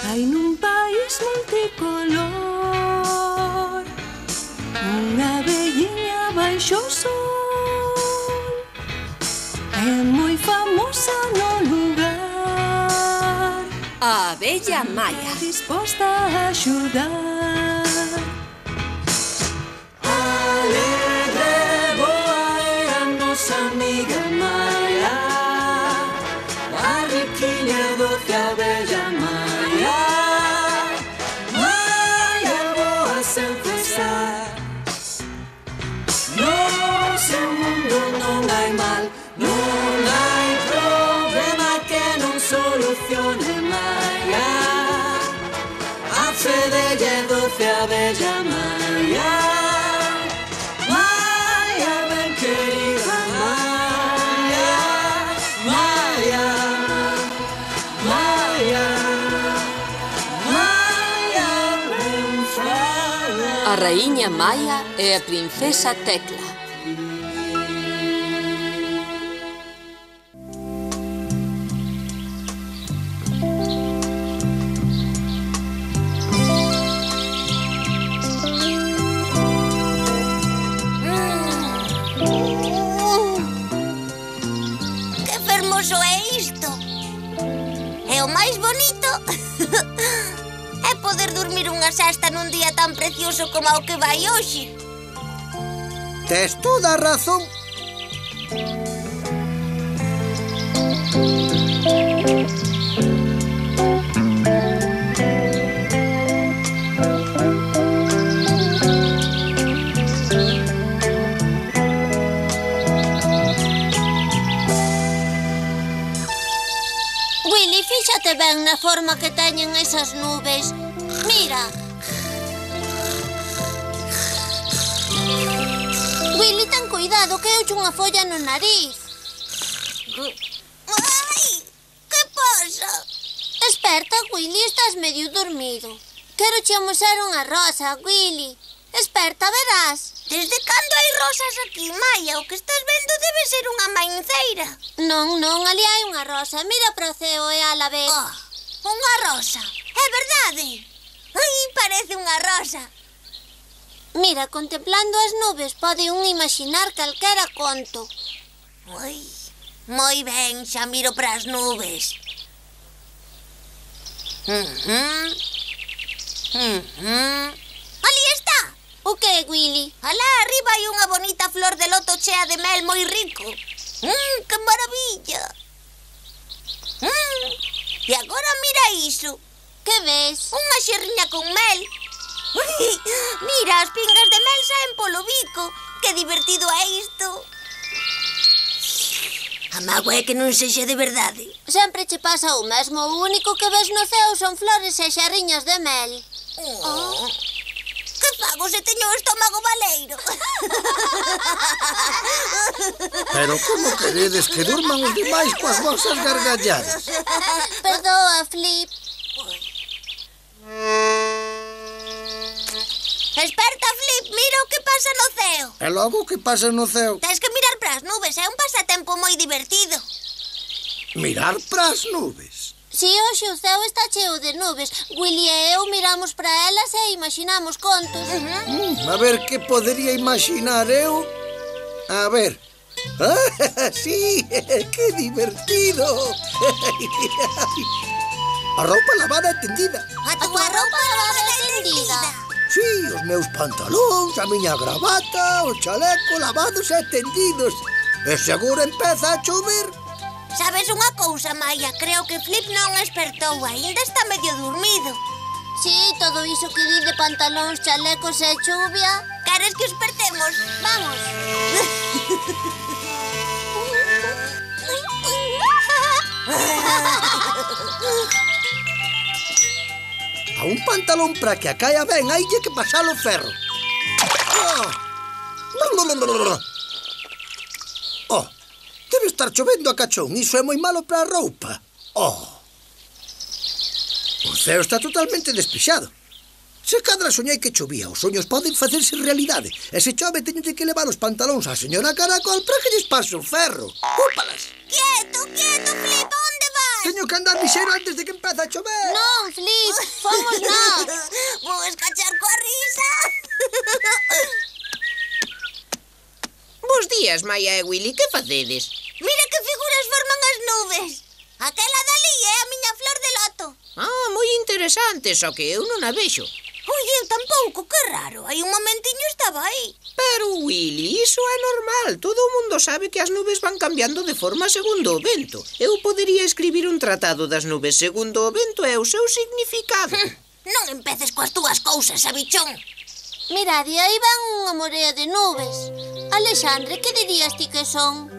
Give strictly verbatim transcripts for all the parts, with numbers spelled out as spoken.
Hai nun país multicolor unha velliña baixo o sol, é moi famosa no lugar, a abella Maia, disposta a axudar. Alegre, boa é a nosa amiga Maia, a riquiña doce abella Maia, Maia boa sen cesar. No seu mundo non hai mal, non hai problema que non solucione Maia, a fe delle doce abella Maia, Maia ben querida Maia, Maia, Maia, Maia ben fala. a raíña Maia e a princesa Tecla. Que fermoso é isto! E o máis bonito é poder dormir unha sesta nun día tan precioso como o que vai hoxe. Tes toda a razón. Willy, fíxate ben na forma que teñen esas nubes. Mira. Willy, ten cuidado que eu unha folla no nariz. Ai, que pasa? Esperta, Willy, estás medio dormido. Quero che amosar unha rosa, Willy. Esperta, verás. Desde cando hai rosas aquí, Maia? O que estás vendo debe ser unha mainceira. Non, non, ali hai unha rosa. Mira para o ceo e ala ve. Oh, unha rosa. É verdade. Ai, parece unha rosa. Mira, contemplando as nubes pode un imaginar calquera conto. Ai, moi ben, xa miro para as nubes. Uh-huh. Uh-huh. Ali está. O que, Willy? Alá arriba hai unha bonita flor de loto chea de mel moi rico. Mmm, que maravilla. Mmm, e agora mira iso. Que ves? Unha xerriña con mel. Ui, mira, as pingas de mel saen polo bico. Que divertido é isto. A mágoa é que non sexa de verdade. Sempre che pasa o mesmo. O único que ves no ceo son flores e xerriñas de mel. Oh. Que fago se teño o estómago baleiro? Pero como queredes que durman os demais coas vosas gargalladas? Perdoa, Flip. Esperta, Flip, mira o que pasa no ceo. E logo o que pasa no ceo? Tens que mirar para as nubes, é un pasatempo moi divertido. Mirar para as nubes? Si, hoxe o ceo está cheo de nubes. Willy e eu miramos para elas e imaginamos contos. Uh-huh. Mm, a ver, que podería imaginar eu? A ver. Ah, sí, que divertido. A roupa lavada e tendida. A tua roupa lavada e tendida? Sí, os meus pantalóns, a miña gravata, o chaleco lavados e tendidos. E seguro empeza a chover. Sabes unha cousa, Maia? Creo que Flip non espertou, aínda está medio dormido. Sí, todo iso que di de pantalóns, chalecos e chuvia. Queres que espertemos? Vamos. A un pantalón para que a caia ben, haille que pasalo ferro. Oh, debe estar chovendo a cachón, iso é moi malo para a roupa. Oh, o ceo está totalmente despexado. Se cadra soñei que chovía, os soños poden facerse realidade. E se chove teño que levar os pantalóns á señora Caracol para que lles pase o ferro. Úpalas. Quieto, quieto, Flip, onde vas? Teño que andar lixeiro antes de que empece a chover. Non, Flip, fomos nós. Vou escachar coa risa. Bos días, Maia e Willy, que facedes? Mira que figuras forman as nubes. Aquela dali é a miña flor de loto. Ah, moi interesante, só que eu non a vexo. Ui, eu tampouco, que raro. Hai un momentiño estaba aí. Pero, Willy, iso é normal. Todo o mundo sabe que as nubes van cambiando de forma segundo o vento. Eu podería escribir un tratado das nubes segundo o vento e o seu significado. Non empeces coas túas cousas, sabichón. Mirad, e aí van unha morea de nubes. Alexandre, que dirías ti que son?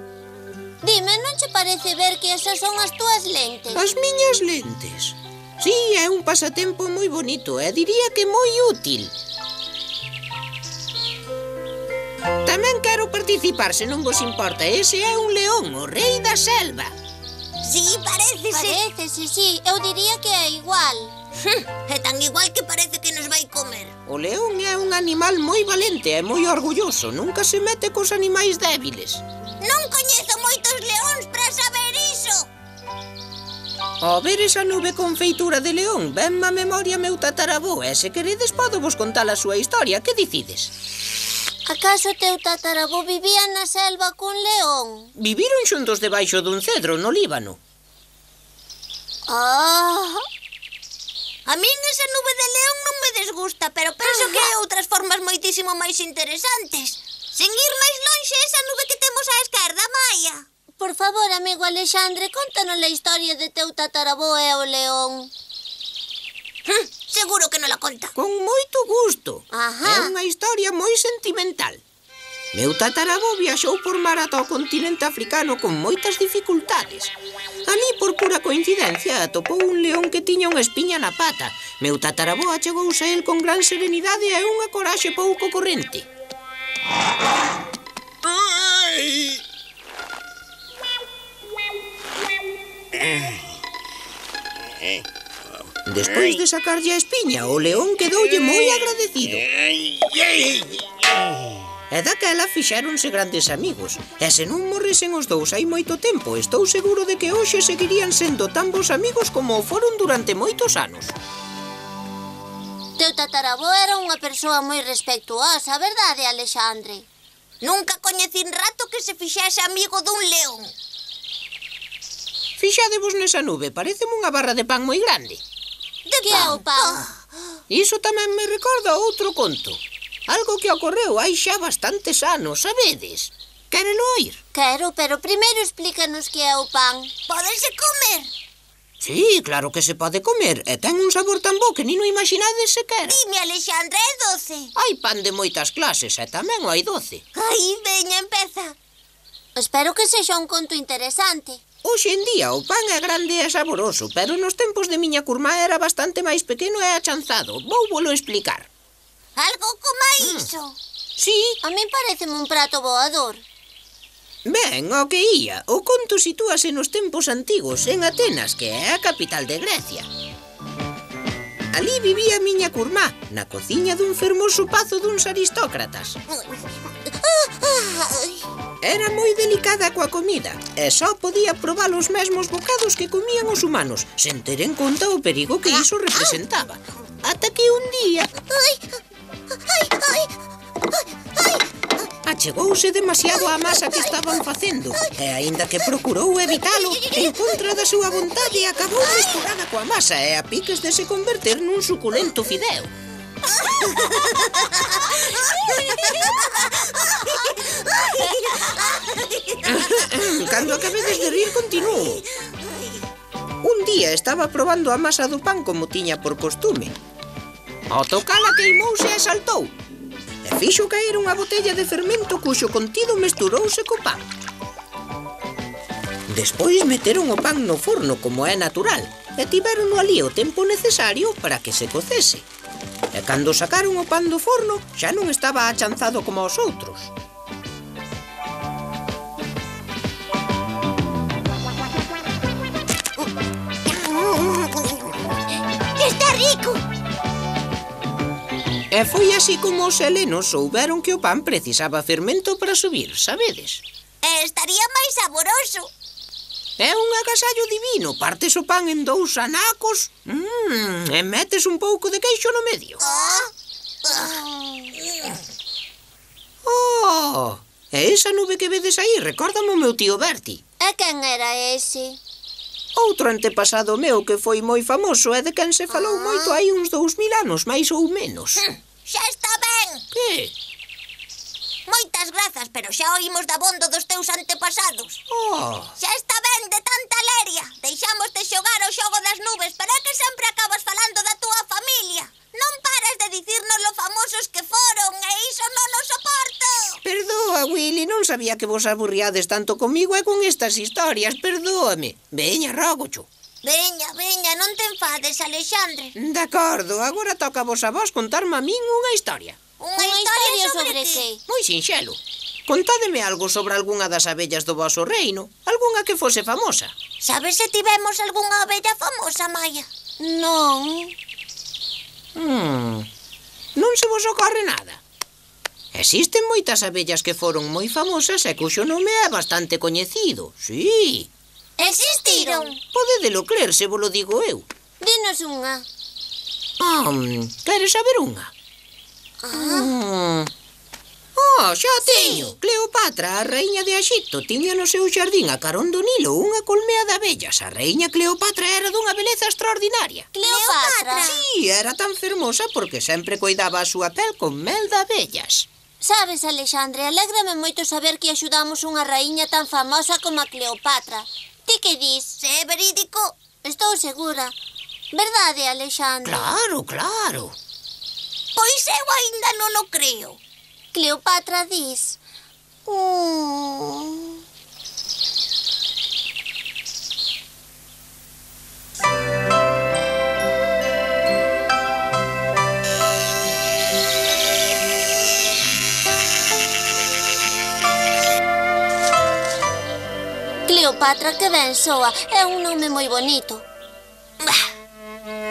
Dime, non che parece ver que esas son as túas lentes? As miñas lentes. Sí, é un pasatempo moi bonito e diría que moi útil. Tamén quero participar, se non vos importa. Ese é un león, o rei da selva. Sí, parécese. Parécese, sí. Eu diría que é igual. É tan igual que parece que nos vai comer. O león é un animal moi valente e moi orgulloso. Nunca se mete cos animais débiles. Non coñezo moitos leóns para saber iso. Ao ver esa nube con feitura de león, venme a memoria meu tataravó e se queredes podo vos contar a súa historia. Que dicides? Acaso teu tataravó vivía na selva con león? Viviron xuntos debaixo dun cedro no Líbano. Ah... A min esa nube de león non me desgusta, pero penso que hai outras formas moitísimo máis interesantes. Sen ir máis lonxe, esa nube que temos á esquerda, Maia. Por favor, amigo Alexandre, contanos a historia de teu tataravó e o león. Hm, seguro que non la conta. Con moito gusto. Ajá. É unha historia moi sentimental. Meu tataravó viaxou por mar ata o continente africano con moitas dificultades. Ali, por pura coincidencia, atopou un león que tiña unha espiña na pata. Meu tataravó achegouse a el con gran serenidade e unha coraxe pouco corrente. Ai! Despois de sacarlle a espiña, o león quedoulle moi agradecido. E daquela fixéronse grandes amigos. E se non morresen os dous hai moito tempo, estou seguro de que hoxe seguirían sendo tan bons amigos como o foron durante moitos anos. Teu tataravó era unha persoa moi respectuosa, verdade, Alexandre? Nunca coñecín rato que se fixese amigo dun león. Fixadevos nesa nube, pareceme unha barra de pan moi grande. De que é o pan? Iso tamén me recorda outro conto. Algo que ocorreu hai xa bastantes anos, sabedes? Quérelo oír? Quero, pero primeiro explícanos que é o pan. Pódese comer? Sí, claro que se pode comer. E ten un sabor tan bo que nin o imaginades sequera. Dime, Alexandra, é doce? Hai pan de moitas clases e tamén o hai doce. Ai, veña, empeza. Espero que sexa un conto interesante. Hoxe en día o pan é grande e saboroso, pero nos tempos de miña curmá era bastante máis pequeno e achanzado. Vou volo explicar. Algo como iso. Sí. A min pareceme un prato voador. Ben, o que ía, o conto sitúase nos tempos antigos, en Atenas, que é a capital de Grecia. Alí vivía miña curmá, na cociña dun fermoso pazo duns aristócratas. Era moi delicada coa comida, e só podía probar os mesmos bocados que comían os humanos, sen ter en conta o perigo que iso representaba. Ata que un día... Ai, ai, ai, ai. Achegouse demasiado á masa que estaban facendo, e aínda que procurou evitalo, en contra da súa vontade acabou mesturada coa masa e a piques de se converter nun suculento fideo. Cando acabedes de rir, continuo. Un día estaba probando a masa do pan como tiña por costume. Ao tocala queimouse e saltou. E fixo caer unha botella de fermento cuxo contido mesturouse co pan. Despois meteron o pan no forno como é natural e tiveron ali o tempo necesario para que se cocese. E cando sacaron o pan do forno xa non estaba achanzado como os outros. Está rico. E foi así como os helenos souberon que o pan precisaba fermento para subir, sabedes? E estaría máis saboroso. É un agasallo divino. Partes o pan en dous anacos mm, e metes un pouco de queixo no medio. Oh, e esa nube que vedes aí recórdame o meu tío Berti. E quen era ese? Outro antepasado meu que foi moi famoso e de quen se falou moito hai uns dous mil anos, máis ou menos. Xa está ben. Que? Moitas grazas, pero xa oímos dabondo dos teus antepasados. Oh, Xa está ben de tanta leria. Deixamos de xogar ao xogo das nubes, pero é que sempre acabas falando da túa familia. Non pares de dicirnos lo famosos que foron, e iso non o soporto. perdoa, Willy, non sabía que vos aburriades tanto comigo e con estas historias, perdóame. Veña, rógocho. Veña, veña, non te enfades, Alexandre. De acordo, agora toca vos a vos contarme a min unha historia. Unha Unha historia sobre, sobre ti. que? Moi sinxelo. Contádeme algo sobre algunha das abellas do voso reino, algunha que fose famosa. Sabes se tivemos algunha abella famosa, Maia? Non. Hmm, non se vos ocorre nada. Existen moitas abellas que foron moi famosas e cuxo nome é bastante coñecido. Sí. Existiron. Podedelo crer se vos lo digo eu. Dinos unha. Ah, queres saber unha? Ah. Oh, xa teño. Cleopatra, a raíña de Axipto, tiña no seu xardín a carón do Nilo unha colmea de abellas. A raíña Cleopatra era dunha beleza extraordinaria. Cleopatra. Sí, era tan fermosa porque sempre cuidaba a súa pel con mel de abellas. Sabes, Alexandre, alégrame moito saber que axudamos unha raíña tan famosa como a Cleopatra. Ti que dis? Se é verídico. Estou segura. Verdade, Alexandre? Claro, claro. Pois eu aínda non o creo. Cleopatra dis... Mm. Cleopatra, que ben soa. É un nome moi bonito. Bah,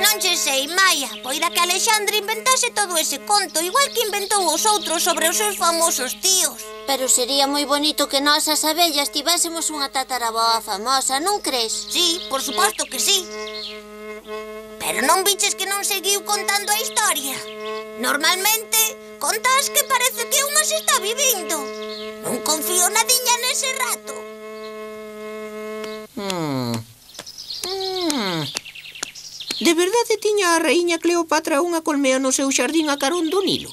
non che sei, Maia. Poida que Alexandre inventase todo ese conto, igual que inventou os outros sobre os seus famosos tíos. Pero sería moi bonito que nós as abellas tivésemos unha tataraboa famosa, non crees? Sí, por suposto que sí. Pero non viches que non seguiu contando a historia. Normalmente, contas que parece que unha se está vivindo. Non confío nadiña nese rato. Hmm. Hmm. De verdade tiña a raíña Cleopatra unha colmea no seu xardín a carón do Nilo?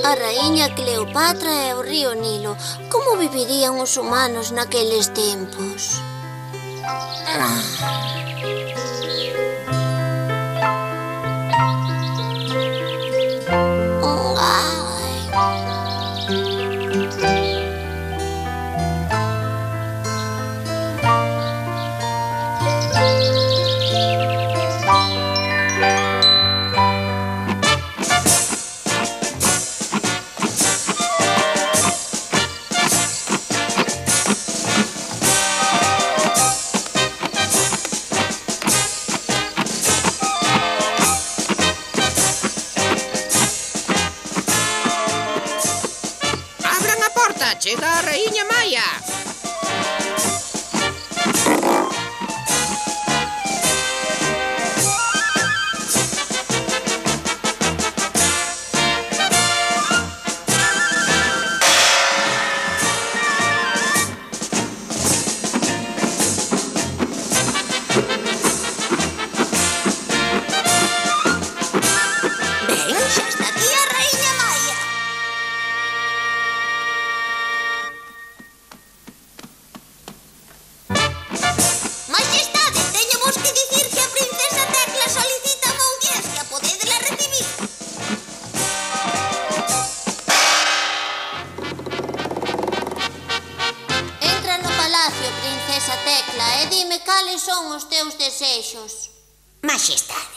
A raíña Cleopatra e o río Nilo. Como vivirían os humanos naqueles tempos? Chega a raíña Maia. Ben, xa está aquí a raíña Maia. Majestade, teñovos que dicir que a princesa Tecla solicita unha audiencia. Podédela recibir. Entra no palacio, princesa Tecla, e dime cales son os teus desexos. Majestade.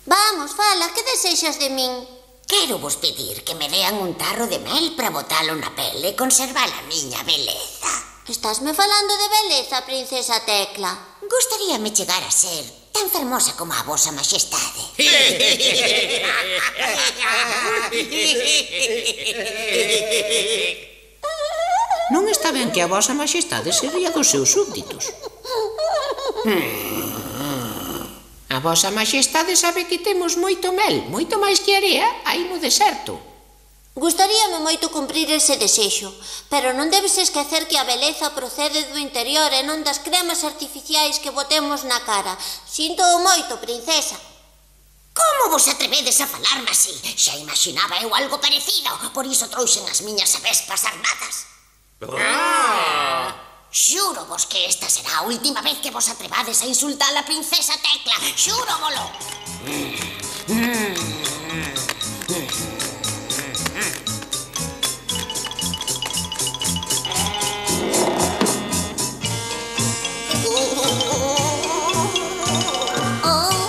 Vamos, fala, que desexas de min? Quero vos pedir que me dean un tarro de mel para botalo na pele e conservar a miña beleza. Estásme falando de beleza, princesa Tecla. Gustaríame chegar a ser tan fermosa como a vosa majestade. Non está ben que a vosa majestade se ría dos seus súbditos. A vosa majestade sabe que temos moito mel, moito máis que area, aí no deserto. Gustaríame moito cumprir ese desexo, pero non debes esquecer que a beleza procede do interior e non das cremas artificiais que botemos na cara. Sinto moito, princesa. Como vos atrevedes a falarme así? Xa imaginaba eu algo parecido, por iso trouxen as miñas avespas armadas. Ah. Xuro vos que esta será a última vez que vos atrevades a insultar a princesa Tecla. Xuro volo.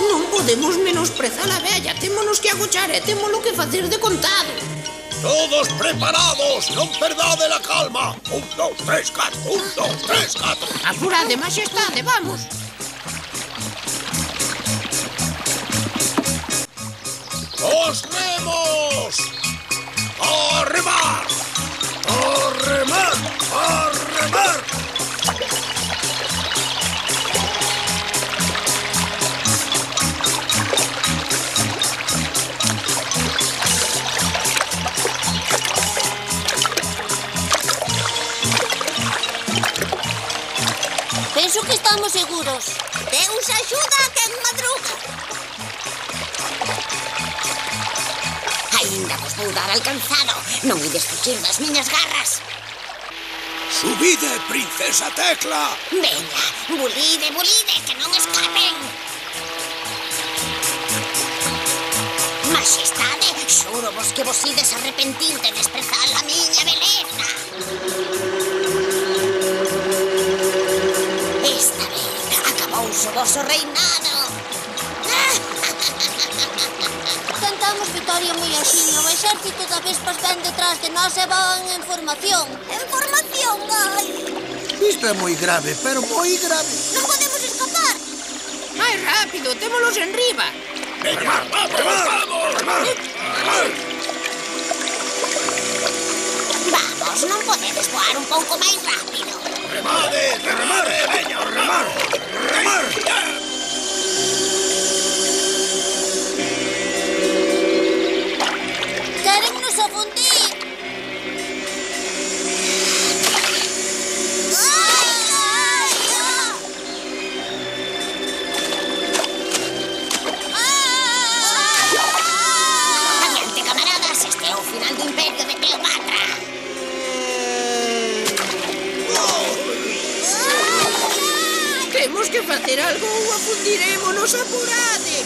Non podemos menosprezar a vella, témonos que agochar e témolo que facer de contado. Todos preparados, non perdade la calma. Un, dos, tres, catro, un, dos, tres, catro. Apurade, majestade, vamos. Os remos! A remar! A remar! A remar! Penso que estamos seguros. Deus axuda a quen madruga. Ainda vos vou dar alcanzado. Non ides fuxir das miñas garras. Subide, princesa Tecla! Veña, bulide, bulide, que non escapen. Majestade, xuro vos que vos ides arrepentir de desprezar a miña beleza. Esta vez acabouse o voso reinado. Cantamos vitoria moi axiña. O exército da Vespas ven detrás de nós e van en formación. En formación, ai. Isto é moi grave, pero moi grave. Non podemos escapar. Máis rápido, témolos en riba. Veña, vamos, vamos, vamos. Vamos, non podedes voar un pouco máis rápido. Remade, remade, veña, remar, remar. Quérennos afundir. Adiante, camaradas, este é o final do imperio de Cleopatra. Temos que facer algo ou afundirémonos, apurade.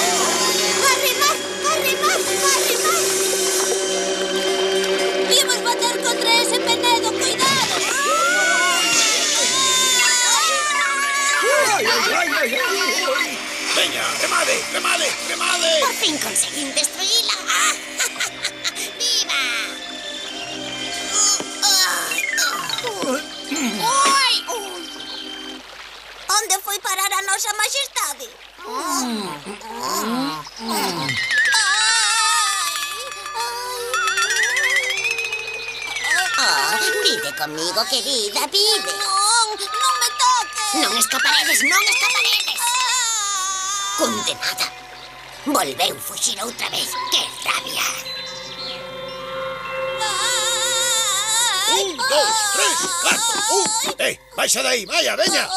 Arrimar, arrimar, arrimar. Imos bater contra ese penedo, cuidado. Ai, ai, ai, ai, ai. Veña, remade, remade, remade. Por fin conseguín destruíla. ¡Viva! Oi! Onde foi parar a nosa majestade? Oh, vide conmigo, querida, vide. Non, non me toques. Non escaparedes, non escaparedes. Condenada. Volveu fuxir outra vez. Que rabia. Un, dos, tres, catro, un. Eh, baixa dai, vaya, veña.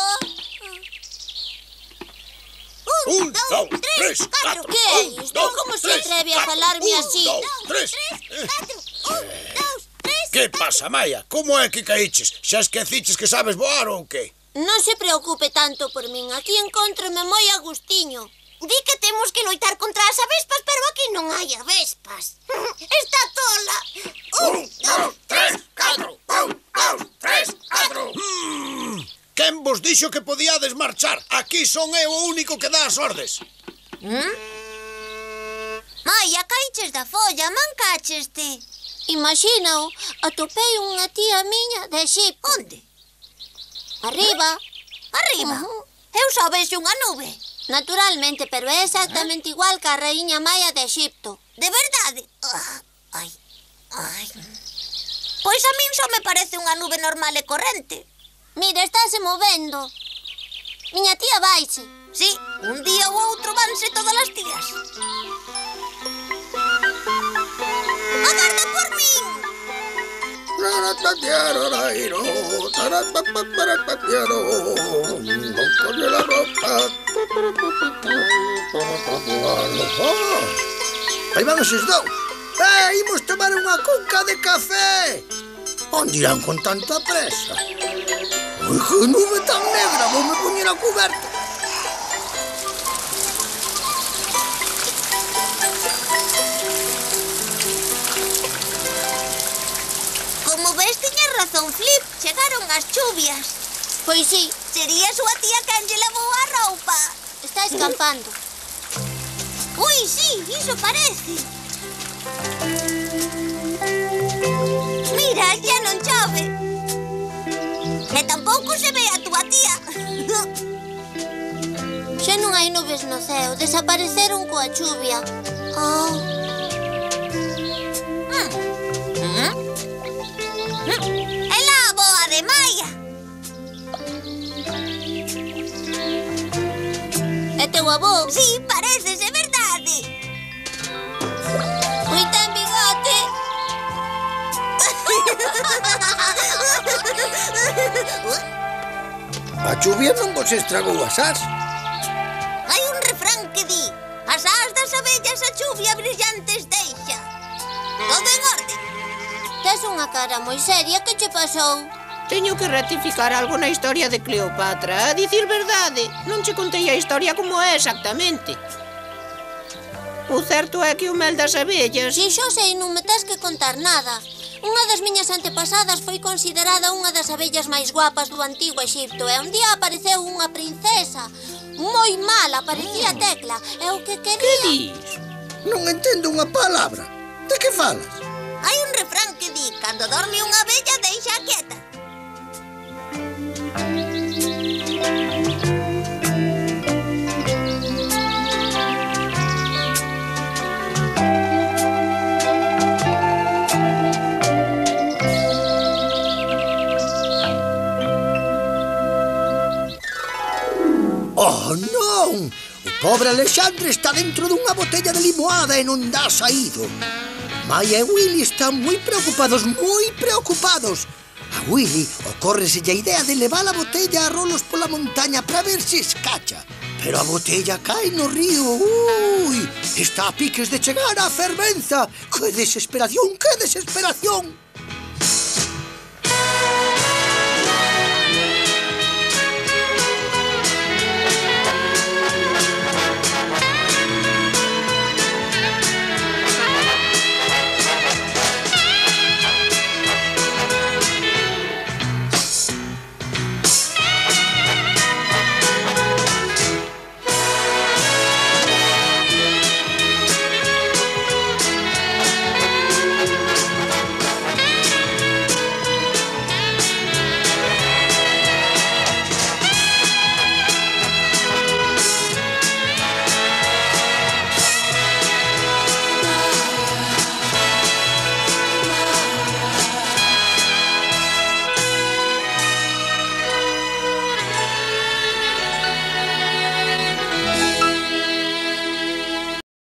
Un, dos, tres, catro, Que é un, isto? dos, Como se tres, atreve a catro, falarme un, así? dos, tres. Eh, Catro, un, dos, tres. Que pasa, Maia? Como é que caíches? Xa esqueciches que sabes voar ou que? Non se preocupe tanto por min. Aquí encontrome moi a gustiño. Di que temos que loitar contra as avespas, pero aquí non hai avespas. Está tola. Un, dos, tres, catro, un, dos, tres, catro. Mm, quen vos dixo que podíades marchar? Aquí son eu o único que dá as ordes. Maia, caiches da folla, mancacheste. Imagínao, atopei unha tía miña de Egipto. Onde? Arriba. Arriba? Ujú. Eu só vexo unha nube. Naturalmente, pero é exactamente igual que a raíña Maia de Egipto. De verdade? Ah, ai, ai. Pois a min só me parece unha nube normal e corrente. Mira, estáse movendo. Miña tía vaise. Sí, un día ou outro vanse todas as tías. Agarda por min! Aí van eses dous. Eh, imos tomar unha cunca de café. Onde irán con tanta presa? Ui, que nube tan negra, vou me poñer a cuberta. Como ves, tiñas razón, Flip. Chegaron as chuvias. Pois sí, Sería a súa tía quen lle lavou a roupa. está escampando. Ui, sí, iso parece. Mira, xa non chove. E tampouco se ve a túa tía. Xa non hai nubes no ceo, desapareceron coa chuvia. Oh, É lá a boa de Maia. é teu avó? Sí, pareces, é verdade. Ui, ten bigote. A chuvia non vos estragou as as. Hai un refrán que di: as ás das abellas a chuvia brillantes deixa. Todo en orde. Tes unha cara moi seria, que che pasou? Teño que rectificar algo na historia de Cleopatra. A dicir verdade, non che contei a historia como é exactamente. O certo é que o mel das abellas... Si xo sei, non me tes que contar nada. Unha das miñas antepasadas foi considerada unha das abellas máis guapas do antigo Egipto e un día apareceu unha princesa. Moi mala, parecía Tecla. E o que Que quería... dis? Non entendo unha palabra. De que falas? Hai un refrán que di: cando dorme unha abella, deixa quieta. Oh, non! O pobre Alexandre está dentro dunha botella de limoada e non dá saído. Maia e Willy están moi preocupados, moi preocupados. A Willy ocórreselle a idea de levar a botella a rolos pola montaña para ver se escacha. Pero a botella cae no río. Ui, está a piques de chegar á fervenza. Que desesperación, que desesperación!